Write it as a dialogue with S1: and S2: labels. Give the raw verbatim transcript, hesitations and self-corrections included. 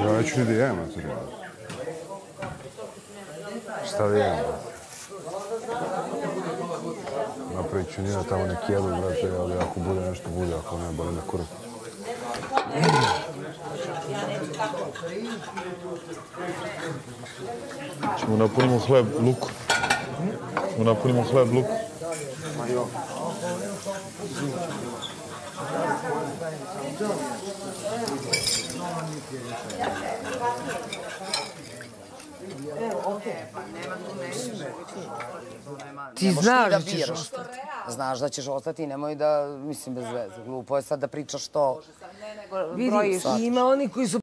S1: Ja neću ni da jem, a to šta da jem? Napravit ću njena tamo neki jedu, brate, ali ako bude nešto, bude, ako ne, boli na kurac.
S2: Ćemo napunimo hleb luku. Ćemo napunimo hleb luku.
S3: Ti znaš da ćeš ostati. Znaš da ćeš ostati i nemoj da, mislim, bez veze. Glupo je sad da pričaš to.
S4: Vidi, ima oni koji su